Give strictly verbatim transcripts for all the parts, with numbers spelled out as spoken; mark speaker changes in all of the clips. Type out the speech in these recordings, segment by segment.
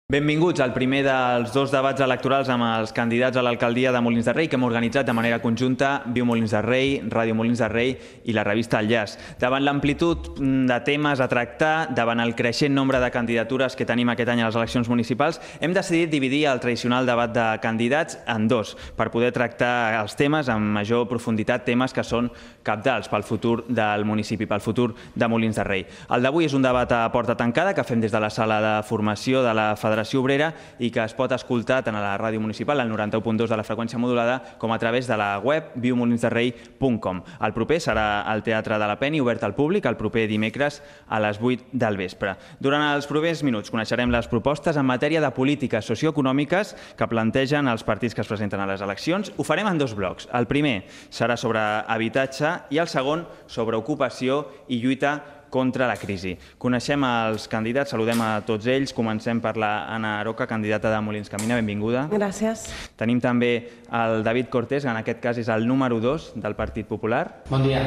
Speaker 1: Benvinguts al primer dels dos debats electorals amb els candidats a l'alcaldia de Molins de Rei que hem organitzat de manera conjunta Viu Molins de Rei, Ràdio Molins de Rei i la revista El Llaç. Davant l'amplitud de temes a tractar, davant el creixent nombre de candidatures que tenim aquest any a les eleccions municipals, hem decidit dividir el tradicional debat de candidats en dos per poder tractar els temes amb major profunditat, temes que són cabdals pel futur del municipi, pel futur de Molins de Rei. El d'avui és un debat a porta tancada que fem des de la sala de formació de la Federació Obrera i que es pot escoltar tant a la ràdio municipal, al noranta-u punt dos de la freqüència modulada, com a través de la web viu molins de rei punt com. El proper serà al Teatre de la Peni, obert al públic, el proper dimecres a les vuit del vespre. Durant els propers minuts coneixerem les propostes en matèria de polítiques socioeconòmiques que plantegen els partits que es presenten a les eleccions. Ho farem en dos blocs. El primer serà sobre habitatge i el segon sobre ocupació i lluita contra la crisi. Coneixem els candidats, saludem a tots ells. Comencem per la Anna Aroca, candidata de Molins Camina. Benvinguda.
Speaker 2: Gràcies.
Speaker 1: Tenim també el David Cortés, que en aquest cas és el número dos del Partit Popular.
Speaker 3: Bon dia.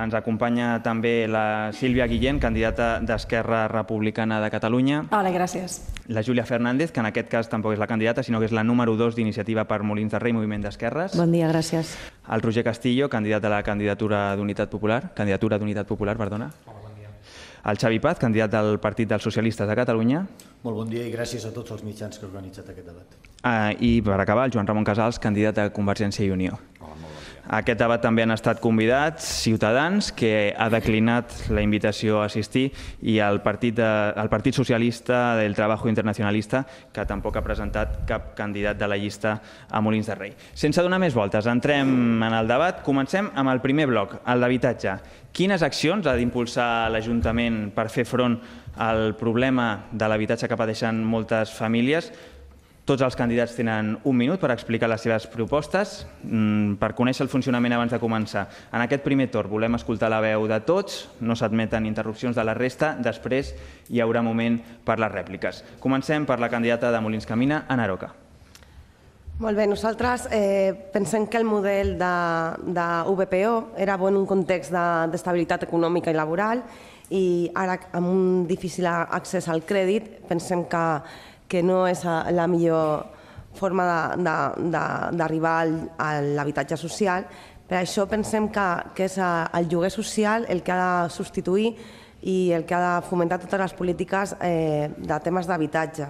Speaker 1: Ens acompanya també la Sílvia Guillén, candidata d'Esquerra Republicana de Catalunya.
Speaker 2: Hola, gràcies.
Speaker 1: La Júlia Fernández, que en aquest cas tampoc és la candidata, sinó que és la número dos d'Iniciativa per Molins de Rei, Moviment d'Esquerres.
Speaker 2: Bon dia, gràcies.
Speaker 1: El Roger Castillo, candidat a la candidatura d'Unitat Popular, candidatura d'Unitat Popular, perdona.
Speaker 3: Hola, bon dia.
Speaker 1: El Xavi Paz, candidat del Partit dels Socialistes de Catalunya.
Speaker 4: Molt bon dia i gràcies a tots els mitjans que heu organitzat aquest debat.
Speaker 1: Ah, I per acabar, el Joan Ramon Casals, candidat a Convergència i Unió.
Speaker 4: Hola, molt bon dia.
Speaker 1: A aquest debat també han estat convidats Ciutadans, que ha declinat la invitació a assistir, i el Partit, de, el Partit Socialista del Trabajo Internacionalista, que tampoc ha presentat cap candidat de la llista a Molins de Rei. Sense donar més voltes, entrem en el debat. Comencem amb el primer bloc, el d'habitatge. Quines accions ha d'impulsar l'Ajuntament per fer front al problema de l'habitatge que pateixen moltes famílies? Tots els candidats tenen un minut per explicar les seves propostes, per conèixer el funcionament abans de començar. En aquest primer torn volem escoltar la veu de tots, no s'admeten interrupcions de la resta, després hi haurà moment per les rèpliques. Comencem per la candidata de Molins Camina, Anna Aroca.
Speaker 2: Molt bé, nosaltres eh, pensem que el model de, de U B P O era bo en un context d'estabilitat econòmica i laboral, i ara amb un difícil accés al crèdit pensem que que no és la millor forma d'arribar a l'habitatge social. Per això pensem que, que és el lloguer social el que ha de substituir i el que ha de fomentar totes les polítiques eh, de temes d'habitatge.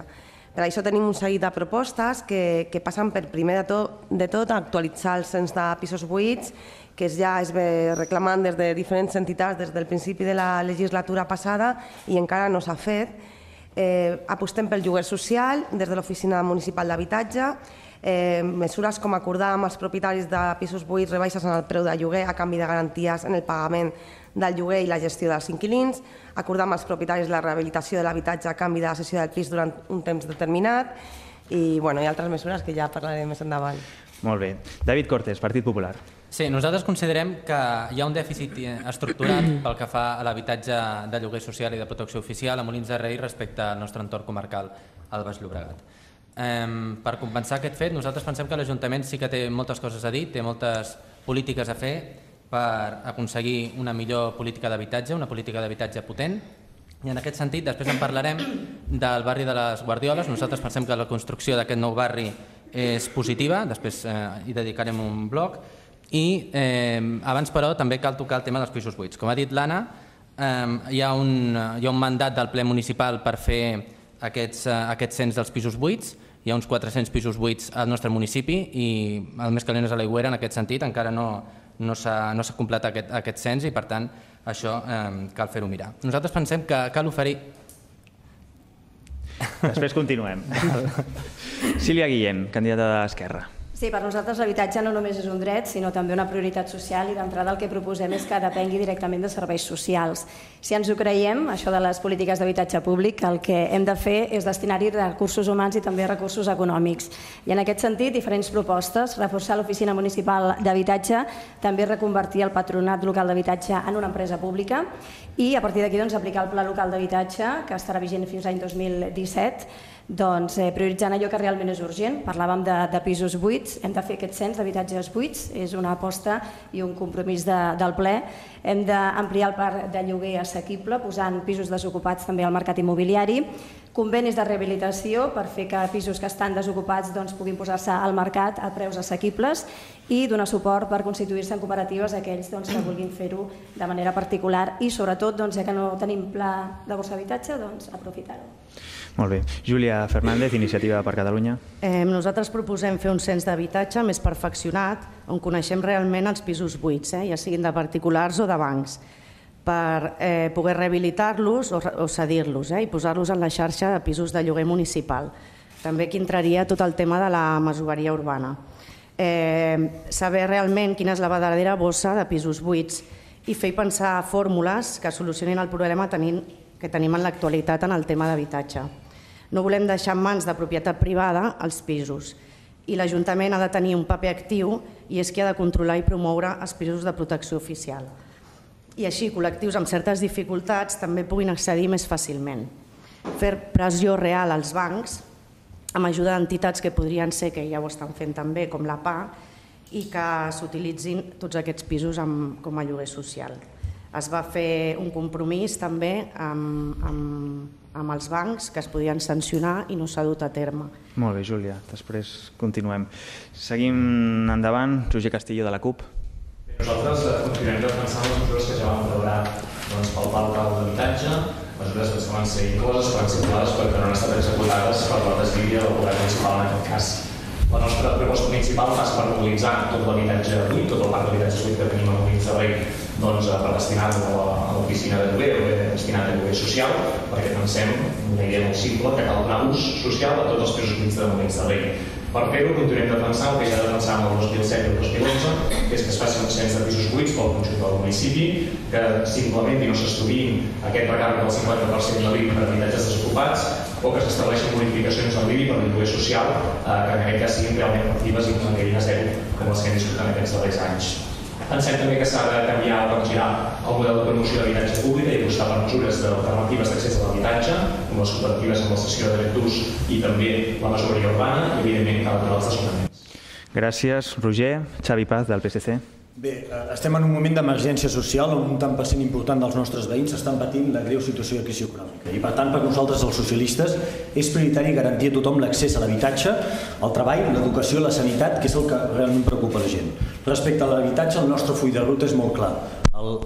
Speaker 2: Per això tenim un seguit de propostes que, que passen per, primer de tot, de tot, actualitzar el cens de pisos buits, que ja es ve reclamant des de diferents entitats des del principi de la legislatura passada i encara no s'ha fet. Eh, apostem pel lloguer social des de l'Oficina Municipal d'Habitatge, eh, mesures com acordar amb els propietaris de pisos buits rebaixes en el preu de lloguer a canvi de garanties en el pagament del lloguer i la gestió dels inquilins, acordar amb els propietaris la rehabilitació de l'habitatge a canvi de la cessió del pis durant un temps determinat i, bueno, i altres mesures que ja parlaré més endavant.
Speaker 1: Molt bé. David Cortés, Partit Popular.
Speaker 3: Sí, nosaltres considerem que hi ha un dèficit estructurat pel que fa a l'habitatge de lloguer social i de protecció oficial a Molins de Rei respecte al nostre entorn comarcal, al Baix Llobregat. Eh, per compensar aquest fet, nosaltres pensem que l'Ajuntament sí que té moltes coses a dir, té moltes polítiques a fer per aconseguir una millor política d'habitatge, una política d'habitatge potent, i en aquest sentit després en parlarem del barri de les Guardioles. Nosaltres pensem que la construcció d'aquest nou barri és positiva, després eh, hi dedicarem un bloc, i eh, abans però també cal tocar el tema dels pisos buits. Com ha dit l'Anna, eh, hi, ha un, hi ha un mandat del ple municipal per fer aquests, eh, aquest cens dels pisos buits. Hi ha uns quatre-cents pisos buits al nostre municipi i el més calent és a l'Aigüera en aquest sentit. Encara no, no s'ha no s'ha completat aquest, aquest cens i per tant això eh, cal fer-ho mirar. Nosaltres pensem que cal oferir...
Speaker 1: Després continuem. Sílvia Guillén, candidata d'Esquerra.
Speaker 5: Sí, per nosaltres l'habitatge no només és un dret, sinó també una prioritat social i d'entrada el que proposem és que depengui directament de serveis socials. Si ens ho creiem, això de les polítiques d'habitatge públic, el que hem de fer és destinar-hi recursos humans i també recursos econòmics. I en aquest sentit, diferents propostes, reforçar l'Oficina Municipal d'Habitatge, també reconvertir el Patronat Local d'Habitatge en una empresa pública i a partir d'aquí doncs, aplicar el Pla Local d'Habitatge, que estarà vigent fins l'any dos mil disset, Doncs eh, prioritzant allò que realment és urgent. Parlàvem de, de pisos buits, hem de fer aquest cens d'habitatges buits, és una aposta i un compromís de, del ple. Hem d'ampliar el parc de lloguer assequible, posant pisos desocupats també al mercat immobiliari, convenis de rehabilitació per fer que pisos que estan desocupats doncs, puguin posar-se al mercat a preus assequibles i donar suport per constituir-se en cooperatives a aquells doncs, que vulguin fer-ho de manera particular i sobretot, doncs, ja que no tenim pla de borsa d'habitatge, doncs, aprofitar-ho.
Speaker 1: Molt bé. Júlia Fernández, Iniciativa per Catalunya.
Speaker 6: Eh, nosaltres proposem fer un cens d'habitatge més perfeccionat on coneixem realment els pisos buits, eh, ja siguin de particulars o de bancs, per eh, poder rehabilitar-los o, o cedir-los eh, i posar-los en la xarxa de pisos de lloguer municipal. També aquí entraria tot el tema de la masoveria urbana. Eh, saber realment quina és la verdadera bossa de pisos buits i fer pensar fórmules que solucionin el problema tenint, que tenim en l'actualitat en el tema d'habitatge. No volem deixar en mans de propietat privada els pisos i l'Ajuntament ha de tenir un paper actiu i és qui ha de controlar i promoure els pisos de protecció oficial. I així col·lectius amb certes dificultats també puguin accedir més fàcilment. Fer pressió real als bancs amb ajuda d'entitats que podrien ser, que ja ho estan fent també, com la P A, i que s'utilitzin tots aquests pisos com a lloguer social. Es va fer un compromís també amb, amb, amb els bancs que es podien sancionar i no s'ha dut a terme.
Speaker 1: Molt bé, Júlia. Després continuem. Seguim endavant. Roger Castillo, de la CUP.
Speaker 7: Nosaltres continuem defensant les mesures que ja vam veure doncs, pel Pla Local d'Habitatge, mesures que van ser incloses, que van ser aprovades però que no han estat executades per la desídia del govern municipal en aquest cas. La nostra proposta principal passa per mobilitzar tot l'habitatge buit, tot el parc d'habitatges buit que tenim a Molins de Rei, doncs, per destinar-lo a l'oficina de lloguer o bé destinat a lloguer social, perquè pensem, una idea molt simple, que cal donar ús social a tots els pisos buits de Molins de Rei. Per fer-ho, continuem defensant el que ja defensàvem el dos mil set i el dos mil onze, que és que es faci un cens de pisos buits pel conjunt del municipi, que s'implementi i no s'estudiïn aquest recàrrec del cinquanta per cent de l'I B I per habitatges desocupats, o que s'estableixin modificacions al I B I per al lloguer social, que en aquest cas siguin realment efectives i no quedin a zero, com les que hem discutit en aquests darrers anys. Pensem també que s'ha de canviar o girar el model de promoció d'habitatge públic i apostar per mesures alternatives d'accés a l'habitatge, com les cooperatives amb la cessió de dret d'ús i també la masoveria urbana i, evidentment, cal aturar els desnonaments.
Speaker 1: Gràcies, Roger. Xavi Paz, del P S C.
Speaker 4: Bé, estem en un moment d'emergència social on un tant per cent important dels nostres veïns estan patint la greu situació de crisi econòmica. I per tant, per nosaltres, els socialistes, és prioritari garantir a tothom l'accés a l'habitatge, al treball, l'educació i la sanitat, que és el que realment preocupa la gent. Respecte a l'habitatge, el nostre full de ruta és molt clar.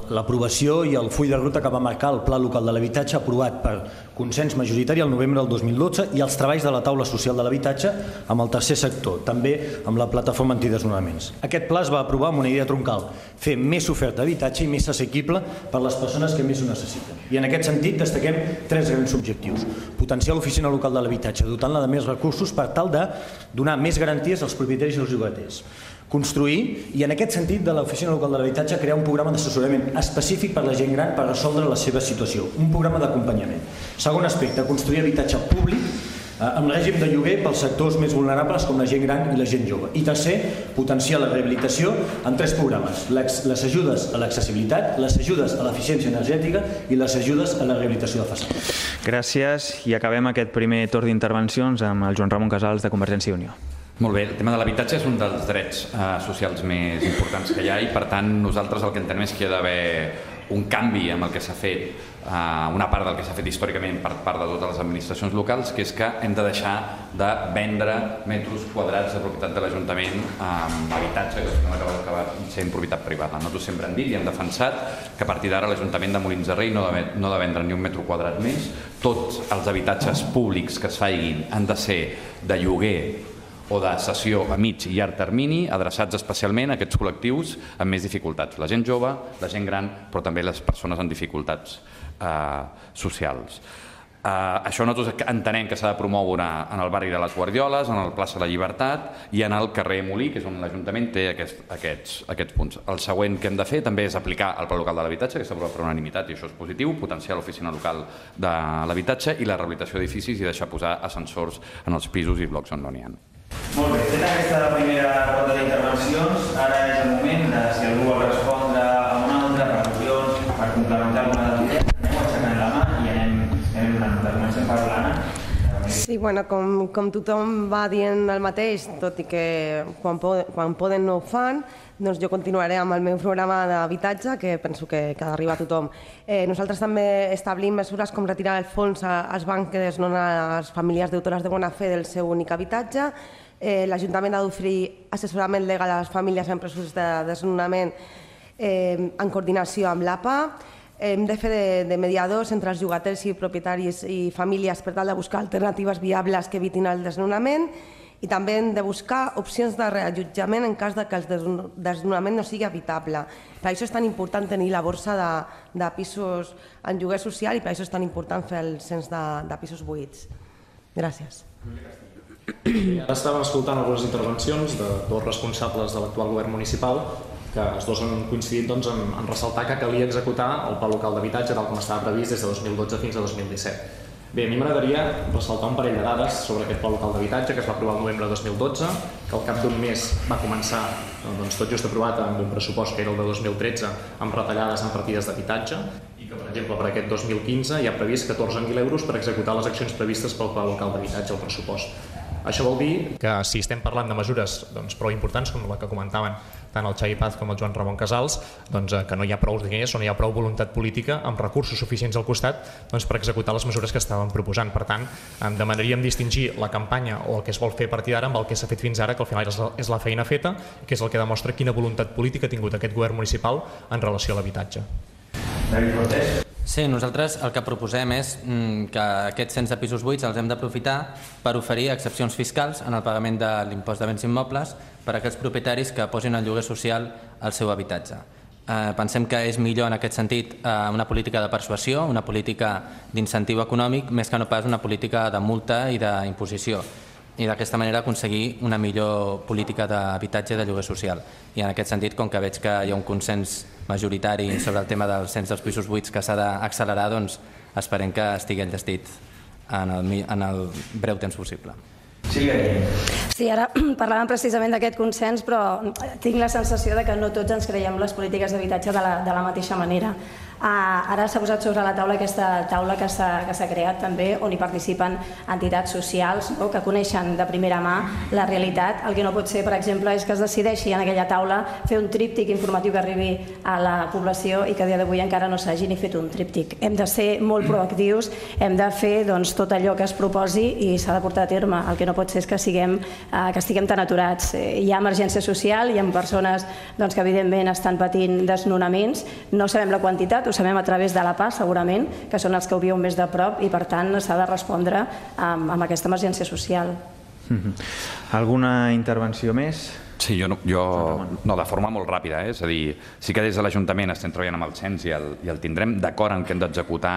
Speaker 4: L'aprovació i el full de ruta que va marcar el Pla Local de l'Habitatge aprovat per consens majoritari el novembre del dos mil dotze i els treballs de la taula social de l'habitatge amb el tercer sector, també amb la plataforma antidesnonaments. Aquest pla es va aprovar amb una idea troncal, fer més oferta d'habitatge i més assequible per les persones que més ho necessiten. I en aquest sentit destaquem tres grans objectius. Potenciar l'oficina local de l'habitatge, dotant-la de més recursos per tal de donar més garanties als propietaris i als llogaters. Construir, i en aquest sentit de l'Oficina Local de l'Habitatge, crear un programa d'assessorament específic per a la gent gran per resoldre la seva situació, un programa d'acompanyament. Segon aspecte, construir habitatge públic amb règim de lloguer pels sectors més vulnerables com la gent gran i la gent jove. I tercer, potenciar la rehabilitació amb tres programes, les ajudes a l'accessibilitat, les ajudes a l'eficiència energètica i les ajudes a la rehabilitació de façanes.
Speaker 1: Gràcies, i acabem aquest primer torn d'intervencions amb el Joan Ramon Casals de Convergència i Unió.
Speaker 8: Molt bé, el tema de l'habitatge és un dels drets eh, socials més importants que hi ha i per tant nosaltres el que entenem és que hi ha d'haver un canvi amb el que s'ha fet, eh, una part del que s'ha fet històricament per part de totes les administracions locals, que és que hem de deixar de vendre metres quadrats de propietat de l'Ajuntament amb habitatge que no acaba d'acabar sent propietat privada. Nosaltres sempre hem dit i hem defensat que a partir d'ara l'Ajuntament de Molins de Rei no ha de, no ha de vendre ni un metre quadrat més. Tots els habitatges públics que es facin han de ser de lloguer o de cessió a mig i llarg termini, adreçats especialment a aquests col·lectius amb més dificultats, la gent jove, la gent gran, però també les persones amb dificultats eh, socials. Eh, això nosaltres entenem que s'ha de promoure en el barri de les Guardioles, en el plaça de la Llibertat i en el carrer Molí, que és on l'Ajuntament té aquest, aquests, aquests punts. El següent que hem de fer també és aplicar el Pla Local de l'Habitatge, que s'ha aprovat per unanimitat i això és positiu, potenciar l'oficina local de l'habitatge i la rehabilitació d'edificis i deixar posar ascensors en els pisos i blocs on no n'hi ha.
Speaker 1: Molt bé, feta aquesta primera ronda d'intervencions, ara és el moment de, si algú vol respondre a una altra, per al·lusions, per complementar alguna de les idees, anem aixecant la mà i anem, anem donant. Comencem per l'Anna.
Speaker 2: Sí, bueno, com, com tothom va dient el mateix, tot i que quan poden, quan poden no ho fan, doncs jo continuaré amb el meu programa d'habitatge, que penso que, que ha d'arribar a tothom. Eh, nosaltres també establim mesures com retirar el fons als bancs que desnonen a les famílies deutores de bona fe del seu únic habitatge. Eh, L'Ajuntament ha d'oferir assessorament legal a les famílies en processos de desnonament eh, en coordinació amb l'A P A. Hem de fer de, de mediadors entre els llogaters i propietaris i famílies per tal de buscar alternatives viables que evitin el desnonament i també hem de buscar opcions de reallotjament en cas de que el desnonament no sigui habitable. Per això és tan important tenir la borsa de, de pisos en lloguer social i per això és tan important fer el cens de, de pisos buits. Gràcies.
Speaker 7: Ara estàvem escoltant algunes intervencions de dos responsables de l'actual govern municipal que els dos han coincidit doncs, en, en ressaltar que calia executar el pla local d'habitatge tal com estava previst des de dos mil dotze fins a dos mil disset. Bé, a mi m'agradaria ressaltar un parell de dades sobre aquest pla local d'habitatge que es va aprovar el novembre de dos mil dotze, que al cap d'un mes va començar doncs, tot just aprovat amb un pressupost que era el de dos mil tretze amb retallades en partides d'habitatge i que, per exemple, per aquest dos mil quinze hi ha previst catorze mil euros per executar les accions previstes pel pla local d'habitatge al pressupost. Això vol dir que si estem parlant de mesures doncs, prou importants com la que comentaven tant el Xavi Paz com el Joan Ramon Casals, doncs, que no hi ha prou diners o no hi ha prou voluntat política amb recursos suficients al costat doncs, per executar les mesures que estàvem proposant. Per tant, demanaríem distingir la campanya o el que es vol fer a partir d'ara amb el que s'ha fet fins ara, que al final és la feina feta, que és el que demostra quina voluntat política ha tingut aquest govern municipal en relació a l'habitatge.
Speaker 3: Sí, nosaltres el que proposem és que aquests cens de pisos buits els hem d'aprofitar per oferir excepcions fiscals en el pagament de l'impost de béns immobles per a aquells propietaris que posin en lloguer social el seu habitatge. Eh, pensem que és millor en aquest sentit eh, una política de persuasió, una política d'incentiu econòmic, més que no pas una política de multa i d'imposició. I d'aquesta manera aconseguir una millor política d'habitatge i de lloguer social. I en aquest sentit, com que veig que hi ha un consens majoritari sobre el tema del cens dels pisos buits que s'ha d'accelerar, doncs esperem que estigui enllestit en el, en el breu temps possible.
Speaker 5: Sí, ara parlàvem precisament d'aquest consens, però tinc la sensació de que no tots ens creiem les polítiques d'habitatge de, la, de la mateixa manera. Uh, ara s'ha posat sobre la taula aquesta taula que s'ha creat també, on hi participen entitats socials, no?, que coneixen de primera mà la realitat. El que no pot ser, per exemple, és que es decideixi en aquella taula fer un tríptic informatiu que arribi a la població i que a dia d'avui encara no s'hagi ni fet un tríptic. Hem de ser molt proactius, hem de fer doncs, tot allò que es proposi i s'ha de portar a terme. El que no pot ser és que, siguem, uh, que estiguem tan aturats. Hi ha emergència social, hi ha persones doncs, que evidentment estan patint desnonaments, no sabem la quantitat, ho sabem a través de l'A P A, segurament, que són els que ho viuen més de prop i, per tant, s'ha de respondre amb, amb aquesta emergència social.
Speaker 1: Mm-hmm. Alguna intervenció més?
Speaker 8: Sí, jo, no, jo no, de forma molt ràpida, eh? És a dir, sí que des de l'Ajuntament estem treballant amb el cens i el, i el tindrem d'acord en que hem d'executar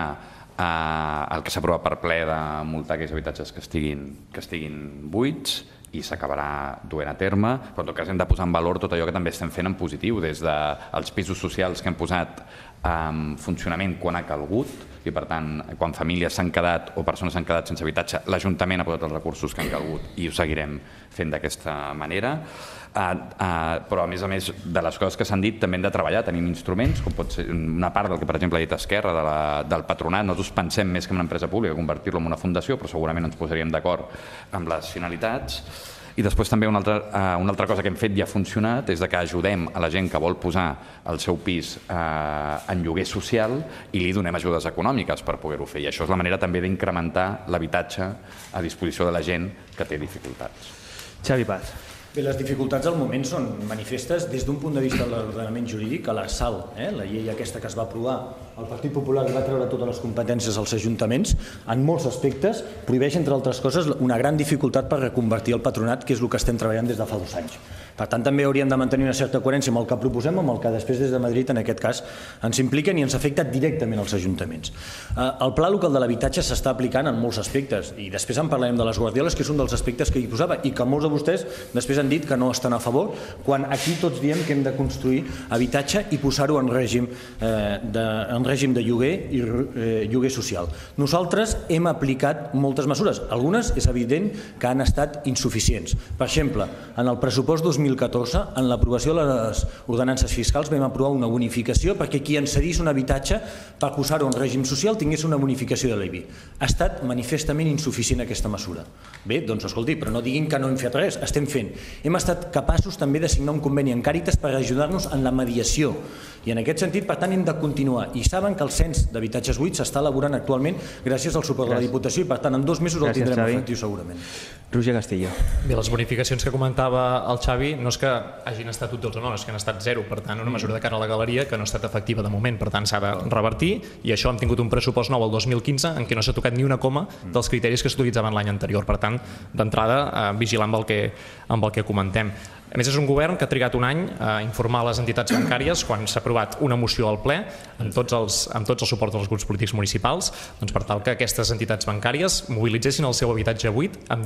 Speaker 8: eh, el que s'ha aprovat per ple de multar aquells habitatges que estiguin, que estiguin buits i s'acabarà duent a terme, però en tot cas hem de posar en valor tot allò que també estem fent en positiu, des dels pisos socials que hem posat en funcionament quan ha calgut i, per tant, quan famílies s'han quedat o persones s'han quedat sense habitatge, l'Ajuntament ha posat els recursos que han calgut i ho seguirem fent d'aquesta manera. Uh, uh, però, a més a més de les coses que s'han dit, també hem de treballar, tenim instruments, com pot ser una part del que, per exemple, ha dit Esquerra, de la, del patronat. Nosaltres pensem més que en una empresa pública convertir-lo en una fundació, però segurament ens posaríem d'acord amb les finalitats. I després també una altra, uh, una altra cosa que hem fet i ha funcionat és de que ajudem a la gent que vol posar el seu pis uh, en lloguer social i li donem ajudes econòmiques per poder-ho fer. I això és la manera també d'incrementar l'habitatge a disposició de la gent que té dificultats.
Speaker 1: Xavi Paz.
Speaker 4: Bé, les dificultats al moment són manifestes des d'un punt de vista de l'ordenament jurídic, a la S A L, eh, la llei aquesta que es va aprovar, el Partit Popular va treure totes les competències als ajuntaments, en molts aspectes prohibeix, entre altres coses, una gran dificultat per reconvertir el patronat, que és el que estem treballant des de fa dos anys. Per tant, també hauríem de mantenir una certa coherència amb el que proposem, amb el que després des de Madrid, en aquest cas, ens impliquen i ens afecta directament als ajuntaments. El pla local de l'habitatge s'està aplicant en molts aspectes i després en parlarem de les guardioles, que és un dels aspectes que hi posava i que molts de vostès després han dit que no estan a favor, quan aquí tots diem que hem de construir habitatge i posar-ho en règim eh, de, en règim de lloguer i eh, lloguer social. Nosaltres hem aplicat moltes mesures. Algunes és evident que han estat insuficients. Per exemple, en el pressupost dos mil mil catorze, en l'aprovació de les ordenances fiscals, vam aprovar una bonificació perquè qui ens cedís un habitatge per posar-ho en règim social tingués una bonificació de l'I B I. Ha estat manifestament insuficient aquesta mesura. Bé, doncs escolti, però no diguin que no hem fet res, estem fent. Hem estat capaços també de signar un conveni amb Càritas per ajudar-nos en la mediació. I en aquest sentit, per tant, hem de continuar. I saben que el cens d'habitatges buits s'està elaborant actualment gràcies al suport de la Diputació i, per tant, en dos mesos el tindrem efectiu segurament.
Speaker 1: Roger Castillo.
Speaker 9: Bé, les bonificacions que comentava el Xavi no és que hagin estat útils o no, és que han estat zero. Per tant, una mesura de cara a la galeria que no ha estat efectiva de moment. Per tant, s'ha de revertir i això hem tingut un pressupost nou el dos mil quinze en què no s'ha tocat ni una coma dels criteris que s'utilitzaven l'any anterior. Per tant, d'entrada, vigilar amb el que, amb el que comentem. A més, és un govern que ha trigat un any a informar les entitats bancàries quan s'ha aprovat una moció al ple amb tots els, amb tots els suports dels grups polítics municipals, doncs per tal que aquestes entitats bancàries mobilitzessin el seu habitatge buit amb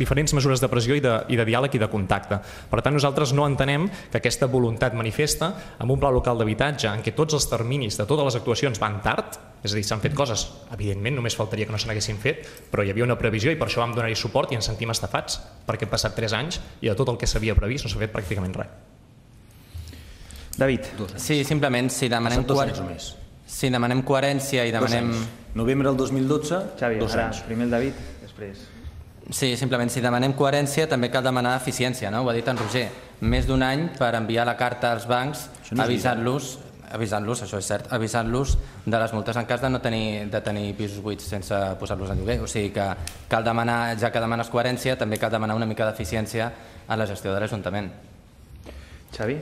Speaker 9: diferents mesures de pressió i de, i de diàleg i de contacte. Per tant, nosaltres no entenem que aquesta voluntat manifesta amb un pla local d'habitatge en què tots els terminis de totes les actuacions van tard, és a dir, s'han fet coses, evidentment només faltaria que no se n'haguessin fet, però hi havia una previsió i per això vam donar-hi suport i ens sentim estafats, perquè han passat tres anys i de tot el que s'havia previst no s'ha fet pràcticament res.
Speaker 1: David.
Speaker 3: Sí, simplement, si demanem, coher... si demanem coherència i demanem...
Speaker 4: Novembre del dos mil dotze,
Speaker 1: Xavi,
Speaker 4: dos
Speaker 1: ara,
Speaker 4: anys.
Speaker 1: primer el David, després...
Speaker 3: Sí, simplement, si demanem coherència també cal demanar eficiència, no? Ho ha dit en Roger. Més d'un any per enviar la carta als bancs avisant-los avisant-los, això és cert, avisant-los de les multes en cas de no tenir, de tenir pisos buits sense posar-los en lloguer. O sigui que cal demanar, ja que demanes coherència, també cal demanar una mica d'eficiència a la gestió de l'Ajuntament.
Speaker 1: Xavi?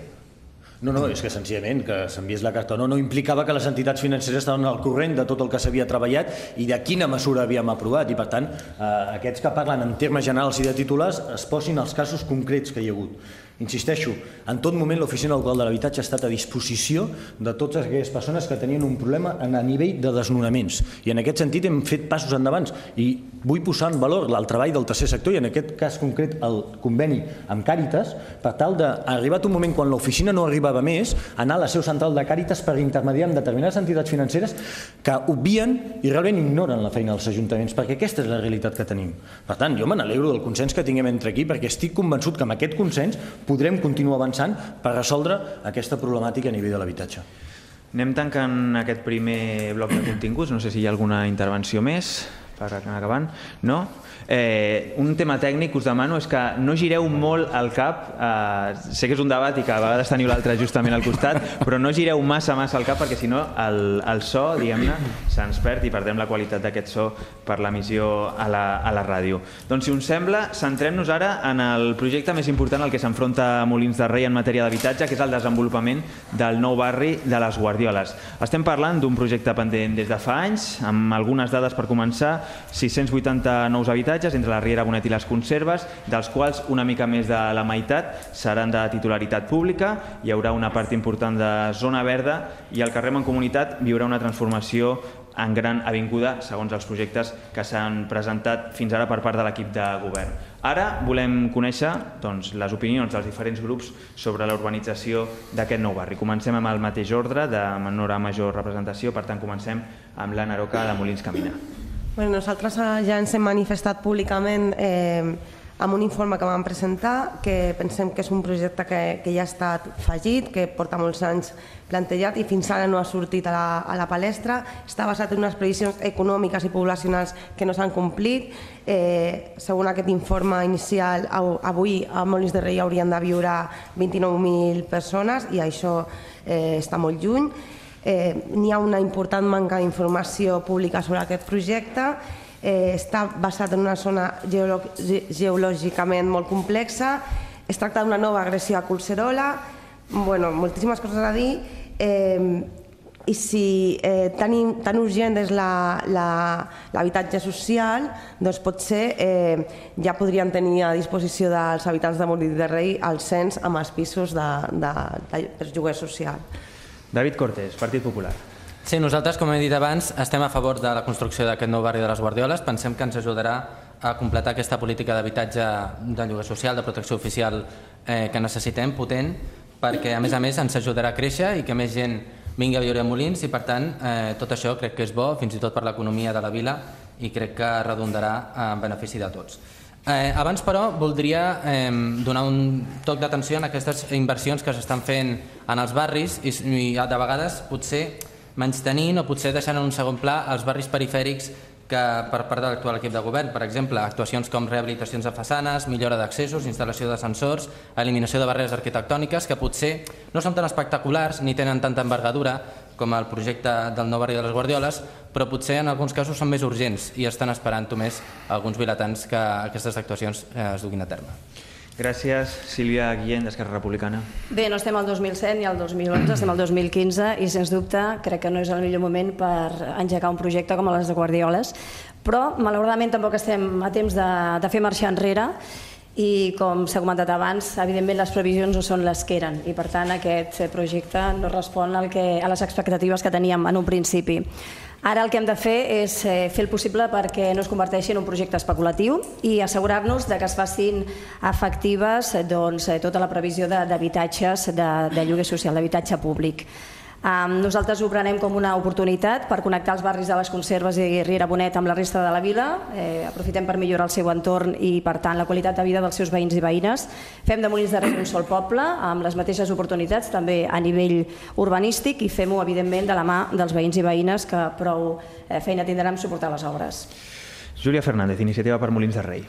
Speaker 4: No, no, és que senzillament que s'enviés la carta o no, no implicava que les entitats financeres estaven al corrent de tot el que s'havia treballat i de quina mesura havíem aprovat i per tant eh, aquests que parlen en termes generals i de titulars es posin els casos concrets que hi ha hagut. Insisteixo, en tot moment l'Oficina Local de l'Habitatge ha estat a disposició de totes aquelles persones que tenien un problema a nivell de desnonaments i en aquest sentit hem fet passos endavant i vull posar en valor el treball del tercer sector i en aquest cas concret el conveni amb Càritas per tal d'arribat un moment quan l'oficina no arribava més anar a la seu central de Càritas per intermediar amb determinades entitats financeres que obvien i realment ignoren la feina dels ajuntaments perquè aquesta és la realitat que tenim. Per tant, jo me n'alegro del consens que tinguem entre aquí perquè estic convençut que amb aquest consens podrem continuar avançant per resoldre aquesta problemàtica a nivell de l'habitatge.
Speaker 1: Anem tancant aquest primer bloc de continguts. No sé si hi ha alguna intervenció més per anar acabant. No? Eh, un tema tècnic us demano és que no gireu molt el cap, eh, sé que és un debat i que a vegades teniu l'altre justament al costat, però no gireu massa massa el cap perquè si no el, el so, diguem-ne, se'ns perd i perdem la qualitat d'aquest so per l'emissió a, la, a la ràdio. Doncs si us sembla, centrem-nos ara en el projecte més important al que s'enfronta Molins de Rei en matèria d'habitatge, que és el desenvolupament del nou barri de les Guardioles. Estem parlant d'un projecte pendent des de fa anys, amb algunes dades per començar, sis-cents vuitanta nous habitatges entre la Riera Bonet i les Conserves, dels quals una mica més de la meitat seran de titularitat pública, hi haurà una part important de zona verda i el carrer Mancomunitat viurà una transformació en gran avinguda segons els projectes que s'han presentat fins ara per part de l'equip de govern. Ara volem conèixer doncs, les opinions dels diferents grups sobre la urbanització d'aquest nou barri. Comencem amb el mateix ordre, de menor a major representació, per tant comencem amb l'Anna Aroca de Molins Camina.
Speaker 2: Bueno, nosaltres ja ens hem manifestat públicament eh, amb un informe que vam presentar, que pensem que és un projecte que, que ja ha estat fallit, que porta molts anys plantejat i fins ara no ha sortit a la, a la palestra. Està basat en unes previsions econòmiques i poblacionals que no s'han complit. Eh, segons aquest informe inicial, avui a Molins de Rei haurien de viure vint-i-nou mil persones i això eh, està molt lluny. Eh, N'hi ha una important manca d'informació pública sobre aquest projecte. Eh, està basat en una zona geolo geològicament molt complexa. Es tracta d'una nova agressió a Collserola. Bueno, moltíssimes coses a dir. Eh, I si eh, tan, tan urgent és l'habitatge social, doncs potser eh, ja podrien tenir a disposició dels habitants de Molins de Rei el cens amb els pisos de, de, de, de lloguer social.
Speaker 1: David Cortés, Partit Popular.
Speaker 3: Sí, nosaltres, com he dit abans, estem a favor de la construcció d'aquest nou barri de les Guardioles. Pensem que ens ajudarà a completar aquesta política d'habitatge de lloguer social, de protecció oficial eh, que necessitem, potent, perquè a més a més ens ajudarà a créixer i que més gent vingui a viure a Molins i per tant eh, tot això crec que és bo, fins i tot per l'economia de la vila i crec que redundarà en benefici de tots. Eh, abans, però, voldria eh, donar un toc d'atenció a aquestes inversions que s'estan fent en els barris i, i de vegades potser menystenint o potser deixant en un segon pla els barris perifèrics que per part de l'actual equip de govern. Per exemple, actuacions com rehabilitacions de façanes, millora d'accessos, instal·lació d'ascensors, eliminació de barreres arquitectòniques que potser no són tan espectaculars ni tenen tanta envergadura com el projecte del nou barri de les Guardioles, però potser en alguns casos són més urgents i estan esperant només alguns vilatans que aquestes actuacions es duguin a terme.
Speaker 1: Gràcies. Sílvia Guillén, d'Esquerra Republicana.
Speaker 5: Bé, no estem al dos mil set ni al dos mil onze, estem al dos mil quinze i, sens dubte, crec que no és el millor moment per engegar un projecte com les de Guardioles, però, malauradament, tampoc estem a temps de, de fer marxar enrere i, com s'ha comentat abans, evidentment les previsions no són les que eren i, per tant, aquest projecte no respon al que, a les expectatives que teníem en un principi. Ara el que hem de fer és fer el possible perquè no es converteixi en un projecte especulatiu i assegurar-nos que es facin efectives doncs, tota la previsió d'habitatges de, de lloguer social, d'habitatge públic. Nosaltres ho prenem com una oportunitat per connectar els barris de les Conserves i Riera Bonet amb la resta de la vila. Aprofitem per millorar el seu entorn i, per tant, la qualitat de vida dels seus veïns i veïnes. Fem de Molins de Rei un sol poble, amb les mateixes oportunitats, també a nivell urbanístic, i fem-ho, evidentment, de la mà dels veïns i veïnes que prou feina tindran a suportar les obres.
Speaker 1: Júlia Fernández, Iniciativa per Molins de Rei.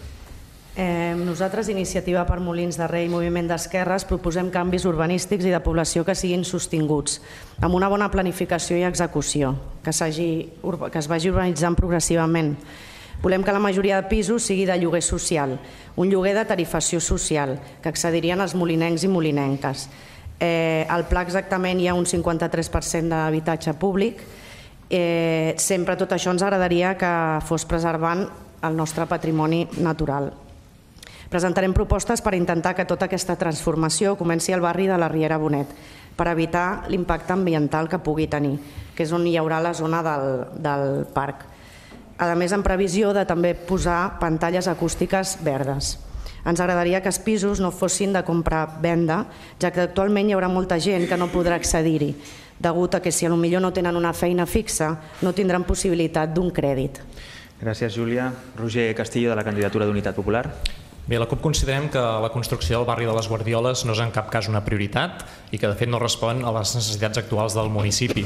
Speaker 6: Eh, nosaltres, Iniciativa per Molins de Rei i Moviment d'Esquerres, proposem canvis urbanístics i de població que siguin sostinguts, amb una bona planificació i execució, que, que es vagi urbanitzant progressivament. Volem que la majoria de pisos sigui de lloguer social, un lloguer de tarifació social, que accedirien als molinencs i molinenques. Eh, al pla exactament hi ha un cinquanta-tres per cent d'habitatge públic. Eh, sempre tot això ens agradaria que fos preservant el nostre patrimoni natural. Presentarem propostes per intentar que tota aquesta transformació comenci al barri de la Riera Bonet, per evitar l'impacte ambiental que pugui tenir, que és on hi haurà la zona del, del parc. A més, en previsió de també posar pantalles acústiques verdes. Ens agradaria que els pisos no fossin de compra-venda, ja que actualment hi haurà molta gent que no podrà accedir-hi, degut a que si potser no tenen una feina fixa, no tindran possibilitat d'un crèdit.
Speaker 1: Gràcies, Júlia. Roger Castillo, de la candidatura d'Unitat Popular.
Speaker 9: Bé, la CUP considerem que la construcció del barri de les Guardioles no és en cap cas una prioritat i que de fet no respon a les necessitats actuals del municipi.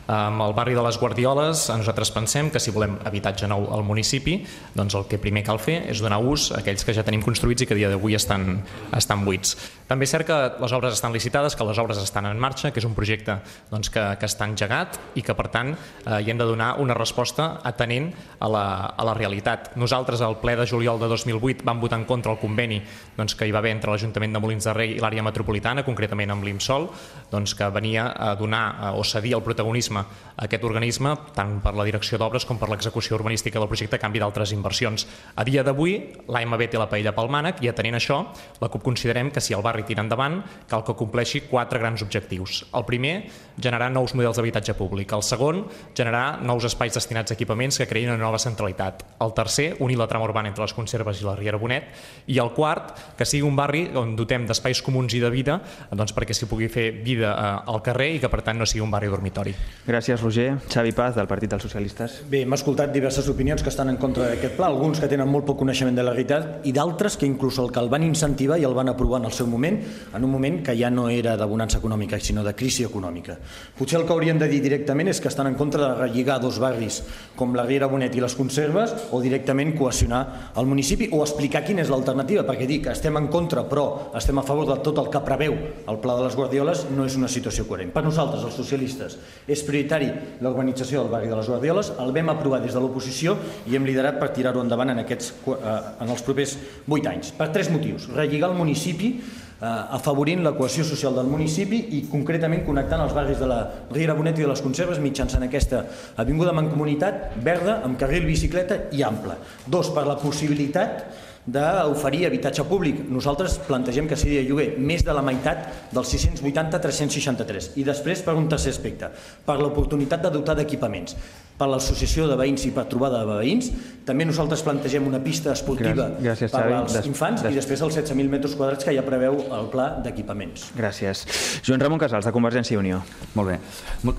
Speaker 9: Amb el barri de les Guardioles nosaltres pensem que si volem habitatge nou al municipi, doncs el que primer cal fer és donar ús a aquells que ja tenim construïts i que a dia d'avui estan, estan buits. També és cert que les obres estan licitades, que les obres estan en marxa, que és un projecte doncs, que, que està engegat i que per tant eh, hi hem de donar una resposta atenent a la, a la realitat. Nosaltres al ple de juliol de dos mil vuit vam votar en contra el conveni doncs, que hi va haver entre l'Ajuntament de Molins de Rei i l'àrea metropolitana, concretament amb l'IMSOL, doncs, que venia a donar o cedir el protagonisme a aquest organisme tant per la direcció d'obres com per l'execució urbanística del projecte a canvi d'altres inversions. A dia d'avui, l'A M B té la paella pel mànec i atenent això, la CUP considerem que si el barri tira endavant cal que compleixi quatre grans objectius. El primer, generar nous models d'habitatge públic. El segon, generar nous espais destinats a equipaments que creïn una nova centralitat. El tercer, unir la trama urbana entre les Conserves i la Riera Bonet. I el quart, que sigui un barri on dotem d'espais comuns i de vida doncs, perquè s'hi pugui fer vida eh, al carrer i que per tant no sigui un barri dormitori.
Speaker 1: Gràcies, Roger. Xavi Paz, del Partit dels Socialistes.
Speaker 4: Bé, hem escoltat diverses opinions que estan en contra d'aquest pla, alguns que tenen molt poc coneixement de la realitat i d'altres que inclús el que el van incentivar i el van aprovar en el seu moment, en un moment que ja no era de bonança econòmica, sinó de crisi econòmica. Potser el que haurien de dir directament és que estan en contra de relligar dos barris com la Riera Bonet i les Conserves o directament cohesionar el municipi o explicar quina és l'alternativa, perquè dir que estem en contra però estem a favor de tot el que preveu el pla de les Guardioles no és una situació coherent. Per nosaltres, els socialistes, és prioritari l'urbanització del barri de les Guardioles, el vam aprovar des de l'oposició i hem liderat per tirar-ho endavant en, aquests, en els propers vuit anys. Per tres motius. Relligar el municipi, afavorint la cohesió social del municipi i concretament connectant els barris de la Riera Bonet i de les Conserves mitjançant aquesta avinguda mancomunitat verda amb carril bicicleta i ample. Dos, per la possibilitat d'oferir habitatge públic. Nosaltres plantegem que sigui de lloguer més de la meitat dels sis-cents vuitanta a tres-cents seixanta-tres. I després, per un tercer aspecte, per l'oportunitat de dotar d'equipaments. per l'associació de veïns i per trobada de veïns. També nosaltres plantegem una pista esportiva
Speaker 1: Gràcies,
Speaker 4: per
Speaker 1: Xavi.
Speaker 4: als
Speaker 1: Des-
Speaker 4: infants
Speaker 1: des-
Speaker 4: i després els setze mil metres quadrats que ja preveu el pla d'equipaments.
Speaker 1: Gràcies. Joan Ramon Casals, de Convergència i Unió.
Speaker 8: Molt bé.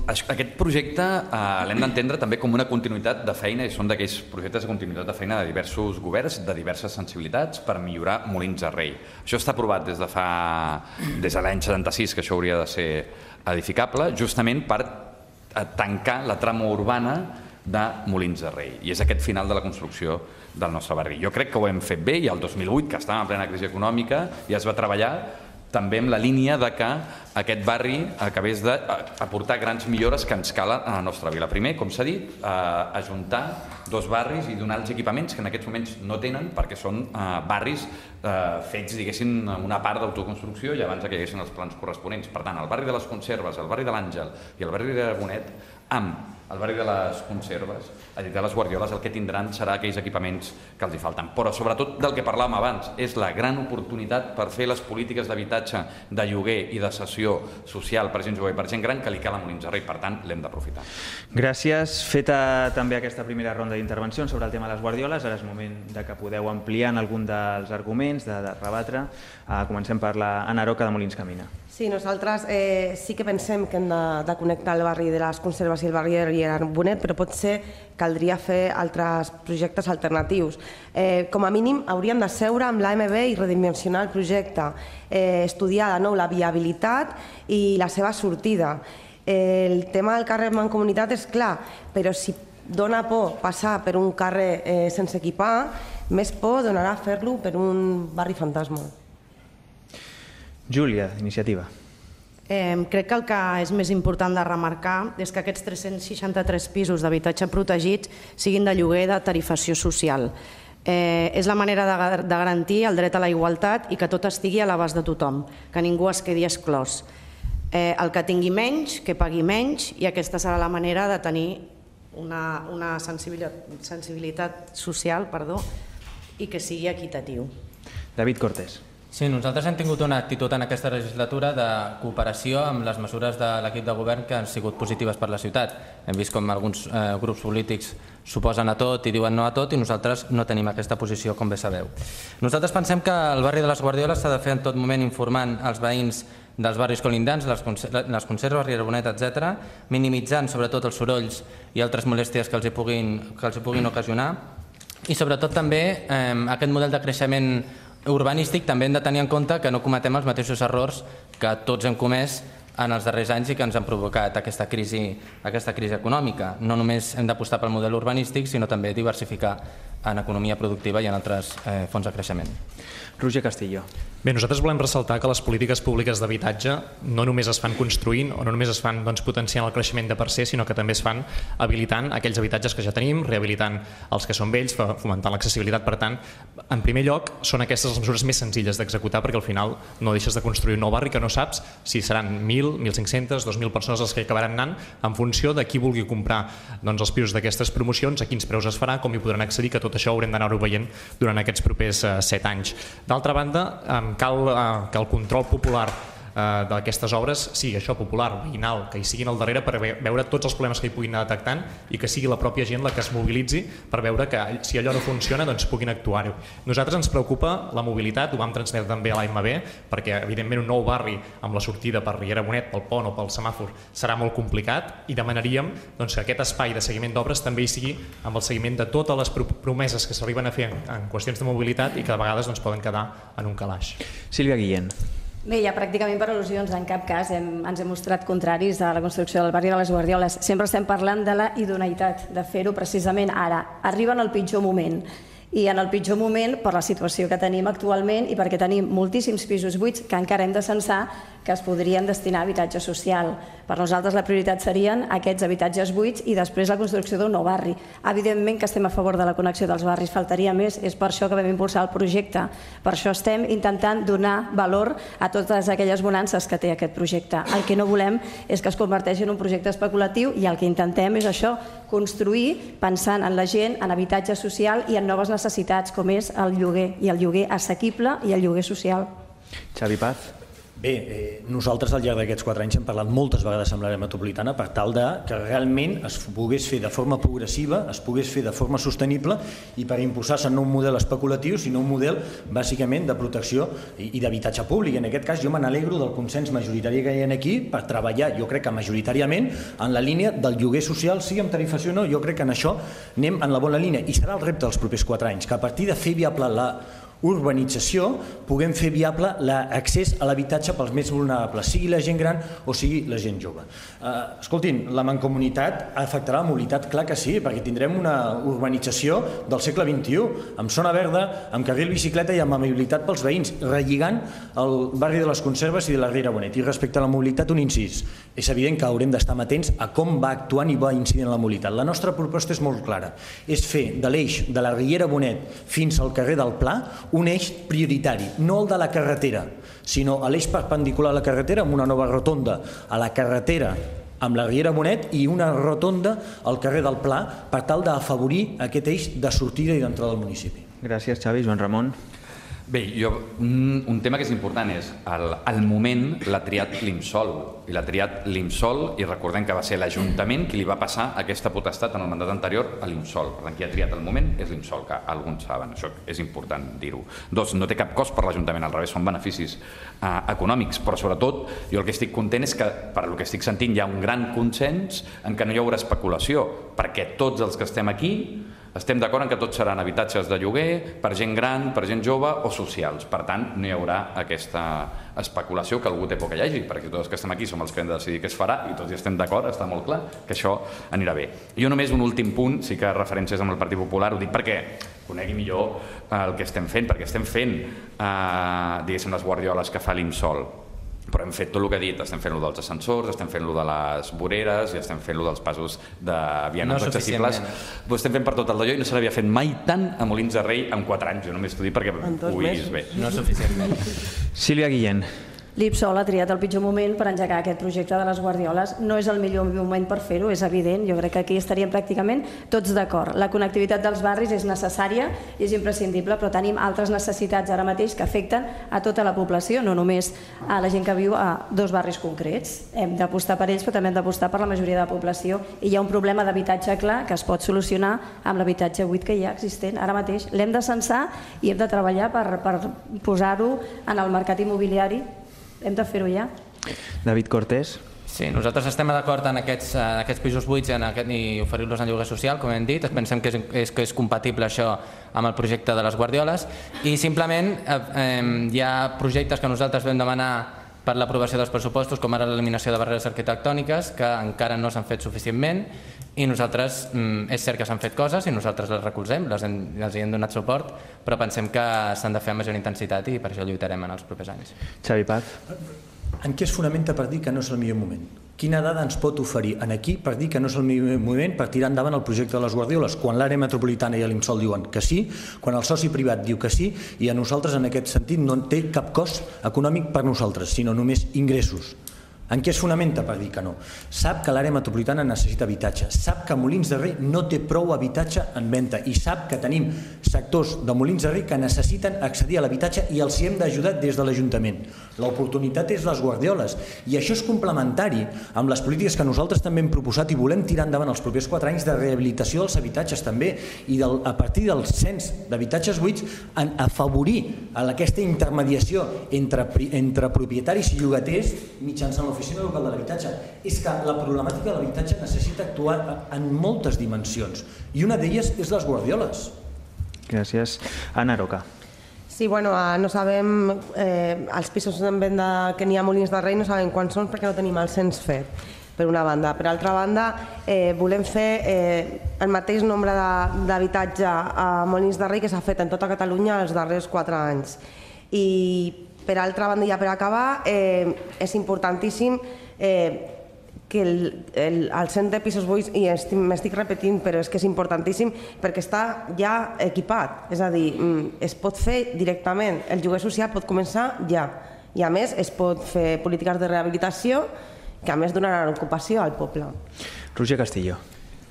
Speaker 8: Aquest projecte eh, l'hem d'entendre també com una continuïtat de feina i són d'aquells projectes de continuïtat de feina de diversos governs, de diverses sensibilitats per millorar Molins de Rei. Això està aprovat des de fa des de l'any setanta-sis, que això hauria de ser edificable, justament per tancar la trama urbana de Molins de Rei. I és aquest final de la construcció del nostre barri. Jo crec que ho hem fet bé i el dos mil vuit, que estàvem en plena crisi econòmica, ja es va treballar també amb la línia de que aquest barri acabés d'aportar grans millores que ens calen a la nostra vila. Primer, com s'ha dit, eh, ajuntar dos barris i donar els equipaments que en aquests moments no tenen perquè són eh, barris eh, fets, diguéssim, una part d'autoconstrucció i abans que hi haguessin els plans corresponents. Per tant, el barri de les Conserves, el barri de l'Àngel i el barri de Bonet, amb el barri de les Conserves, a dir, de les Guardioles, el que tindran serà aquells equipaments que els hi falten. Però sobretot del que parlàvem abans, és la gran oportunitat per fer les polítiques d'habitatge, de lloguer i de cessió social per gent jove i per gent gran que li cal a Molins de Rei. Per tant, l'hem d'aprofitar.
Speaker 1: Gràcies. Feta també aquesta primera ronda d'intervencions sobre el tema de les Guardioles, ara és moment de que podeu ampliar en algun dels arguments, de, de rebatre. Uh, comencem per la Anna Aroca, de Molins Camina.
Speaker 2: Sí, nosaltres eh, sí que pensem que hem de, de connectar el barri de les Conserves i el barri de Riera Bonet, però potser caldria fer altres projectes alternatius. Eh, com a mínim hauríem de seure amb l'A M B i redimensionar el projecte, eh, estudiar de nou la viabilitat i la seva sortida. Eh, el tema del carrer Mancomunitat és clar, però si dona por passar per un carrer eh, sense equipar, més por donarà fer-lo per un barri fantasma.
Speaker 1: Júlia, Iniciativa.
Speaker 6: Eh, crec que el que és més important de remarcar és que aquests tres-cents seixanta-tres pisos d'habitatge protegits siguin de lloguer de tarifació social. Eh, és la manera de, de garantir el dret a la igualtat i que tot estigui a l'abast de tothom, que ningú es quedi exclòs. Eh, el que tingui menys, que pagui menys, i aquesta serà la manera de tenir una, una sensibilitat, sensibilitat social, perdó, i que sigui equitatiu.
Speaker 1: David Cortés.
Speaker 3: Sí, nosaltres hem tingut una actitud en aquesta legislatura de cooperació amb les mesures de l'equip de govern que han sigut positives per la ciutat. Hem vist com alguns eh, grups polítics s'oposen a tot i diuen no a tot i nosaltres no tenim aquesta posició, com bé sabeu. Nosaltres pensem que el barri de les Guardioles s'ha de fer en tot moment informant els veïns dels barris colindants, les Conserves, Riera Bonet, etcètera, minimitzant sobretot els sorolls i altres molèsties que els hi puguin, que els hi puguin ocasionar i sobretot també eh, aquest model de creixement urbanístic també hem de tenir en compte que no cometem els mateixos errors que tots hem comès en els darrers anys i que ens han provocat aquesta crisi, aquesta crisi econòmica. No només hem d'apostar pel model urbanístic, sinó també diversificar en economia productiva i en altres eh, fonts de creixement.
Speaker 1: Roger Castillo.
Speaker 9: Bé, nosaltres volem ressaltar que les polítiques públiques d'habitatge no només es fan construint o no només es fan doncs, potenciant el creixement de per se, sinó que també es fan habilitant aquells habitatges que ja tenim, rehabilitant els que són vells, fomentant l'accessibilitat. Per tant, en primer lloc, són aquestes les mesures més senzilles d'executar perquè al final no deixes de construir un nou barri que no saps si seran mil, mil cinc-centes, dos mil persones els que acabaran anant en funció de qui vulgui comprar doncs, els pisos d'aquestes promocions, a quins preus es farà, com hi podran accedir, que tot això haurem d'anar-ho veient durant aquests propers eh, set anys. D'altra banda, eh, cal eh, que el control popular eh, d'aquestes obres sigui això, popular, veïnal, que hi siguin al darrere per veure tots els problemes que hi puguin anar detectant i que sigui la pròpia gent la que es mobilitzi per veure que si allò no funciona doncs puguin actuar-ho. Nosaltres ens preocupa la mobilitat, ho vam transmetre també a l'A M B perquè evidentment un nou barri amb la sortida per Riera Bonet, pel pont o pel semàfor serà molt complicat i demanaríem doncs, que aquest espai de seguiment d'obres també hi sigui amb el seguiment de totes les promeses que s'arriben a fer en qüestions de mobilitat i que de vegades doncs, poden quedar en un calaix.
Speaker 1: Sílvia Guillén.
Speaker 5: Bé, ja pràcticament per al·lusions, en cap cas hem, ens hem mostrat contraris a la construcció del barri de les Guardioles. Sempre estem parlant de la idoneïtat de fer-ho precisament ara. Arriba en el pitjor moment. I en el pitjor moment per la situació que tenim actualment i perquè tenim moltíssims pisos buits que encara hem de censar que es podrien destinar a habitatge social. Per nosaltres la prioritat serien aquests habitatges buits i després la construcció d'un nou barri. Evidentment que estem a favor de la connexió dels barris, faltaria més, és per això que vam impulsar el projecte. Per això estem intentant donar valor a totes aquelles bonances que té aquest projecte. El que no volem és que es converteixi en un projecte especulatiu i el que intentem és això, construir pensant en la gent, en habitatge social i en noves necessitats com és el lloguer, i el lloguer assequible i el lloguer social.
Speaker 1: Xavi Paz.
Speaker 4: Bé, eh, nosaltres al llarg d'aquests quatre anys hem parlat moltes vegades amb l'àrea metropolitana per tal de que realment es pogués fer de forma progressiva, es pogués fer de forma sostenible i per imposar-se no un model especulatiu, sinó un model bàsicament de protecció i, i d'habitatge públic. En aquest cas jo me n'alegro del consens majoritari que hi ha aquí per treballar, jo crec que majoritàriament, en la línia del lloguer social, sigui amb tarifació o no, jo crec que en això anem en la bona línia i serà el repte dels propers quatre anys, que a partir de fer viable la urbanització puguem fer viable l'accés a l'habitatge pels més vulnerables, sigui la gent gran o sigui la gent jove. Uh, escoltin, la mancomunitat afectarà la mobilitat? Clar que sí, perquè tindrem una urbanització del segle vint-i-u, amb zona verda, amb carril bicicleta i amb amabilitat pels veïns, relligant el barri de les Conserves i de la Riera Bonet. I respecte a la mobilitat, un incís. És evident que haurem d'estar atents a com va actuant i va incidint en la mobilitat. La nostra proposta és molt clara, és fer de l'eix de la Riera Bonet fins al carrer del Pla un eix prioritari, no el de la carretera, sinó l'eix perpendicular a la carretera amb una nova rotonda a la carretera amb la Riera Bonet i una rotonda al carrer del Pla per tal d'afavorir aquest eix de sortida i d'entrada al municipi.
Speaker 1: Gràcies, Xavi. Joan Ramon.
Speaker 8: Bé, jo, un, un tema que és important és el, el moment l'ha triat l'IMSOL i l'ha triat l'IMSOL i recordem que va ser l'Ajuntament qui li va passar aquesta potestat en el mandat anterior a l'IMSOL. Per tant, qui ha triat el moment és l'IMSOL, que alguns saben, això és important dir-ho. Dos, no té cap cost per l'Ajuntament, al revés, són beneficis eh, econòmics, però sobretot jo el que estic content és que, per el que estic sentint, hi ha un gran consens en que no hi haurà especulació, perquè tots els que estem aquí estem d'acord en que tots seran habitatges de lloguer per gent gran, per gent jove o socials. Per tant, no hi haurà aquesta especulació que algú té por que hi hagi, perquè tots els que estem aquí som els que hem de decidir què es farà i tots hi estem d'acord, està molt clar que això anirà bé. Jo només un últim punt, sí que referències amb el Partit Popular, ho dic perquè conegui millor el que estem fent, perquè estem fent, eh, diguéssim, les guardioles que fa l'IMSOL. Però hem fet tot el que he dit, estem fent-lo dels ascensors, estem fent-lo de les voreres i estem fent-lo dels passos de vianants no accessibles. Ho estem fent per tot el d'allò i no se l'havia fet mai tant a Molins de Rei en quatre anys. Jo només t'ho dic perquè ho vist bé.
Speaker 3: No suficientment.
Speaker 1: Sílvia Guillén.
Speaker 5: L'IPSOL ha triat el pitjor moment per engegar aquest projecte de les guardioles. No és el millor moment per fer-ho, és evident. Jo crec que aquí estaríem pràcticament tots d'acord. La connectivitat dels barris és necessària i és imprescindible, però tenim altres necessitats ara mateix que afecten a tota la població, no només a la gent que viu a dos barris concrets. Hem d'apostar per ells, però també hem d'apostar per la majoria de la població. I hi ha un problema d'habitatge clar que es pot solucionar amb l'habitatge buit que hi ha existent ara mateix. L'hem de censar i hem de treballar per, per posar-ho en el mercat immobiliari. Hem de fer-ho ja.
Speaker 1: David Cortés.
Speaker 3: Sí, nosaltres estem d'acord en aquests, en aquests pisos buits i, en aquest, i oferir-los en lloguer social, com hem dit. Pensem que és, és, que és compatible això amb el projecte de les guardioles i simplement eh, hi ha projectes que nosaltres vam demanar per l'aprovació dels pressupostos, com ara l'eliminació de barreres arquitectòniques, que encara no s'han fet suficientment i nosaltres, és cert que s'han fet coses i nosaltres les recolzem, les hem, els hi hem donat suport, però pensem que s'han de fer amb major intensitat i per això lluitarem en els propers anys.
Speaker 1: Xavi Paz.
Speaker 4: En què es fonamenta per dir que no és el millor moment? Quina dada ens pot oferir en aquí per dir que no és el millor moment per tirar endavant el projecte de les guardioles, quan l'àrea metropolitana i l'IMSOL diuen que sí, quan el soci privat diu que sí i a nosaltres en aquest sentit no té cap cost econòmic per nosaltres, sinó només ingressos? En què es fonamenta per dir que no? Sap que l'àrea metropolitana necessita habitatge, sap que Molins de Rei no té prou habitatge en venda i sap que tenim sectors de Molins de Rei que necessiten accedir a l'habitatge i els hi hem d'ajudar des de l'Ajuntament. L'oportunitat és les guardioles i això és complementari amb les polítiques que nosaltres també hem proposat i volem tirar endavant els propers quatre anys de rehabilitació dels habitatges també i del, a partir del cens d'habitatges buits en afavorir aquesta intermediació entre, entre propietaris i llogaters mitjançant l'oficina local de l'habitatge. És que la problemàtica de l'habitatge necessita actuar en moltes dimensions i una d'elles és les guardioles.
Speaker 1: Gràcies. Anna Roca.
Speaker 2: Sí, bueno, no sabem, eh, els pisos en venda que n'hi ha a Molins de Rei no sabem quants són perquè no tenim el cens fet, per una banda. Per altra banda, eh, volem fer eh, el mateix nombre d'habitatge a Molins de Rei que s'ha fet en tota Catalunya els darrers quatre anys. I per altra banda, ja per acabar, eh, és importantíssim eh, que el, el, el cens de pisos buits, i m'estic repetint, però és que és importantíssim perquè està ja equipat, és a dir, es pot fer directament, el lloguer social pot començar ja, i a més es pot fer polítiques de rehabilitació que a més donaran ocupació al poble.
Speaker 1: Roger Castillo.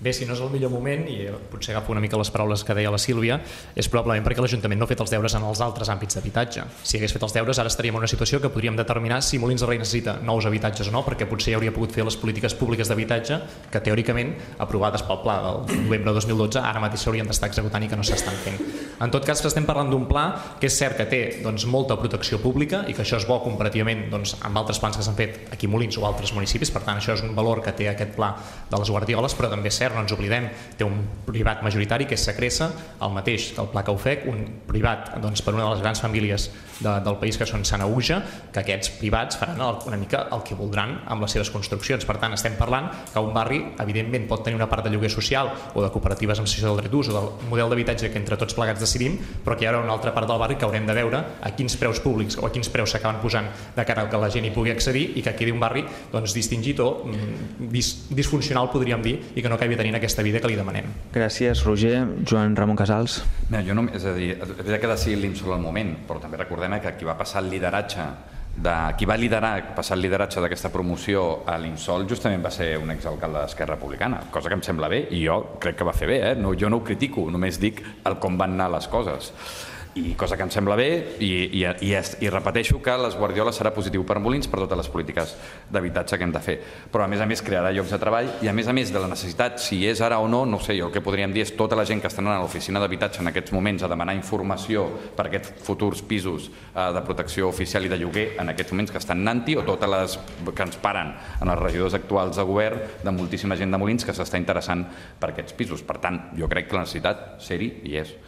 Speaker 9: Bé, si no és el millor moment, i potser agafo una mica les paraules que deia la Sílvia, és probablement perquè l'Ajuntament no ha fet els deures en els altres àmbits d'habitatge. Si hagués fet els deures, ara estaríem en una situació que podríem determinar si Molins de Rei necessita nous habitatges o no, perquè potser ja hauria pogut fer les polítiques públiques d'habitatge que, teòricament, aprovades pel pla del novembre de dos mil dotze, ara mateix s'haurien d'estar executant i que no s'estan fent. En tot cas, estem parlant d'un pla que és cert que té doncs, molta protecció pública i que això és bo comparativament doncs, amb altres plans que s'han fet aquí a Molins o altres municipis, per tant, això és un valor que té aquest pla de les Guardioles, però també és cert, no ens oblidem, té un privat majoritari que és Sacresa, el mateix que el Pla que ho fec, un privat doncs, per una de les grans famílies de, del país que són Sanaüja, que aquests privats faran una mica el que voldran amb les seves construccions. Per tant, estem parlant que un barri, evidentment, pot tenir una part de lloguer social o de cooperatives amb cessió del dret d'ús o del model d'habitatge que entre tots plegats decidim, però que hi haurà una altra part del barri que haurem de veure a quins preus públics o a quins preus s'acaben posant de cara que la gent hi pugui accedir i que quedi un barri doncs, distingit o dis, disfuncional, podríem dir, i que no acabi tenint aquesta vida que li demanem.
Speaker 1: Gràcies, Roger. Joan Ramon Casals.
Speaker 8: No, jo no, és a dir, és veritat que decidim sobre el moment, però també recordem que qui va passar el lideratge de, qui va liderar, passar el lideratge d'aquesta promoció a l'Insol justament va ser un exalcalde d'Esquerra Republicana, cosa que em sembla bé i jo crec que va fer bé, eh? no, jo no ho critico, només dic el com van anar les coses. I cosa que em sembla bé i, i, i, i repeteixo que les Guardioles serà positiu per Molins per totes les polítiques d'habitatge que hem de fer, però a més a més crearà llocs de treball i a més a més de la necessitat, si és ara o no, no sé, jo el que podríem dir és tota la gent que està anant a l'oficina d'habitatge en aquests moments a demanar informació per aquests futurs pisos eh, de protecció oficial i de lloguer en aquests moments que estan anant-hi, o totes les que ens paren en els regidors actuals de govern de moltíssima gent de Molins que s'està interessant per aquests pisos. Per tant, jo crec que la necessitat ser-hi hi és.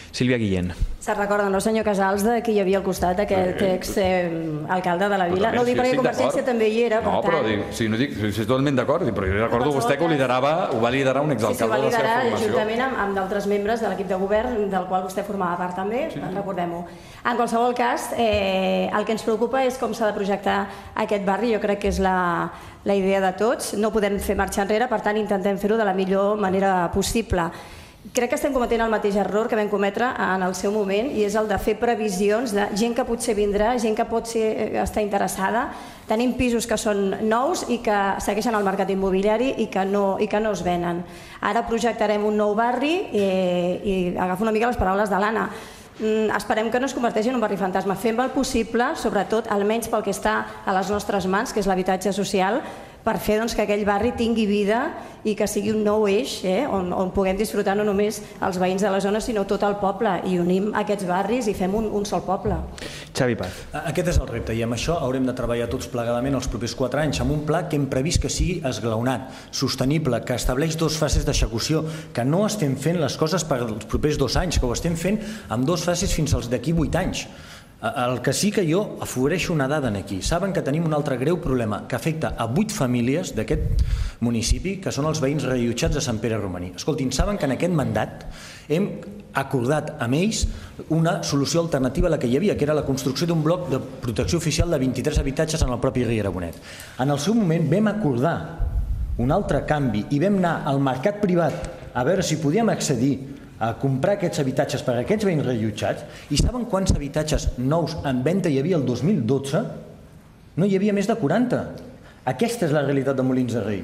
Speaker 1: Sílvia Guillén.
Speaker 5: Se'n recorda, no, senyor Casals, de qui hi havia al costat, aquest ex-alcalde de la vila? No ho dic perquè Convergència també hi era, per tant...
Speaker 8: No, però dic, si no dic, si estic totalment d'acord, però jo recordo vostè que ho liderava, ho va liderar un exalcalde de la seva formació. Sí, sí, ho va liderar juntament amb, amb d'altres membres de l'equip de govern, del qual vostè formava part també, sí. Recordem-ho. En qualsevol cas, eh, el que ens preocupa és com s'ha de projectar aquest barri, jo crec que és la, la idea de tots, no podem fer marxa enrere, per tant intentem fer-ho de la millor manera possible. Crec que estem cometent el mateix error que vam cometre en el seu moment i és el de fer previsions de gent que potser vindrà, gent que pot ser, estar interessada. Tenim pisos que són nous i que segueixen al mercat immobiliari i que no, i que no es venen. Ara projectarem un nou barri i, i agafo una mica les paraules de l'Anna. Esperem que no es converteixi en un barri fantasma. Fem el possible, sobretot, almenys pel que està a les nostres mans, que és l'habitatge social, per fer doncs, que aquell barri tingui vida i que sigui un nou eix eh, on, on puguem disfrutar no només els veïns de la zona sinó tot el poble i unim aquests barris i fem un, un sol poble.
Speaker 1: Xavi Paz.
Speaker 4: Aquest és el repte i amb això haurem de treballar tots plegadament els propers quatre anys amb un pla que hem previst que sigui esglaonat, sostenible, que estableix dos fases d'execució, que no estem fent les coses per als propers dos anys, que ho estem fent amb dos fases fins als d'aquí vuit anys. El que sí que jo afavoreixo una dada aquí. Saben que tenim un altre greu problema que afecta a vuit famílies d'aquest municipi, que són els veïns reallotjats de Sant Pere Romaní. Escoltin, saben que en aquest mandat hem acordat amb ells una solució alternativa a la que hi havia, que era la construcció d'un bloc de protecció oficial de vint-i-tres habitatges en el propi Riera Bonet. En el seu moment vam acordar un altre canvi i vam anar al mercat privat a veure si podíem accedir a comprar aquests habitatges per a aquests veïns reallotjats i saben quants habitatges nous en venda hi havia el dos mil dotze? No hi havia més de quaranta. Aquesta és la realitat de Molins de Rei.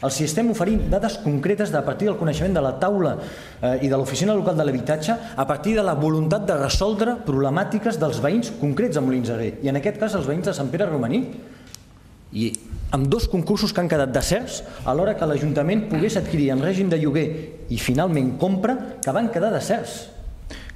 Speaker 4: Els estem oferint dades concretes a partir del coneixement de la taula eh, i de l'oficina local de l'habitatge a partir de la voluntat de resoldre problemàtiques dels veïns concrets a Molins de Rei i en aquest cas els veïns de Sant Pere Romaní. I amb dos concursos que han quedat deserts a l'hora que l'Ajuntament pogués adquirir en règim de lloguer i finalment compra, que van quedar deserts.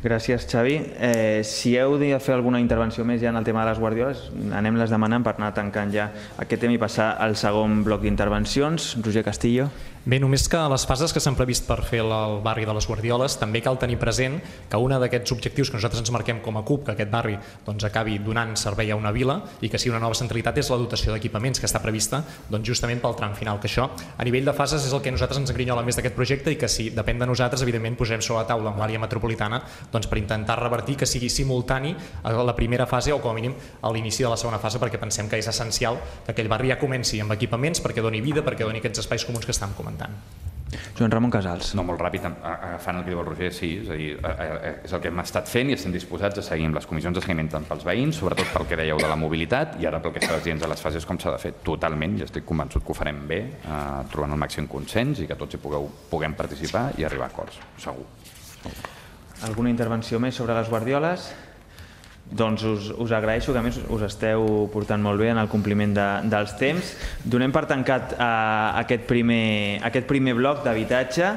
Speaker 1: Gràcies, Xavi. Eh, si heu de fer alguna intervenció més ja en el tema de les Guardioles, anem-les demanant per anar tancant ja aquest tema i passar al segon bloc d'intervencions. Roger Castillo.
Speaker 9: Bé, només que a les fases que s'han previst per fer el barri de les Guardioles també cal tenir present que un d'aquests objectius que nosaltres ens marquem com a C U P, que aquest barri doncs, acabi donant servei a una vila i que sigui una nova centralitat, és la dotació d'equipaments que està prevista doncs, justament pel tram final, que això a nivell de fases és el que a nosaltres ens grinyola més d'aquest projecte i que si depèn de nosaltres, evidentment posem sobre la taula amb l'àrea metropolitana doncs, per intentar revertir que sigui simultani a la primera fase o com a mínim a l'inici de la segona fase, perquè pensem que és essencial que aquell barri ja comenci amb equipaments perquè doni vida, perquè doni aquests espais comuns que estàvem comentant.
Speaker 1: Joan Ramon Casals.
Speaker 8: No, molt ràpid, agafant el que diu el Roger, sí, és a dir, és el que hem estat fent i estem disposats a seguir amb les comissions de seguiment tant pels veïns, sobretot pel que dèieu de la mobilitat, i ara pel que estàs dient de les fases com s'ha de fer totalment, i estic convençut que ho farem bé, trobant el màxim consens i que tots hi puguem participar i arribar a acords, segur.
Speaker 1: Alguna intervenció més sobre les guardioles? Doncs us, us agraeixo que a més us esteu portant molt bé en el compliment de, dels temps. Donem per tancat uh, aquest, primer, aquest primer bloc d'habitatge.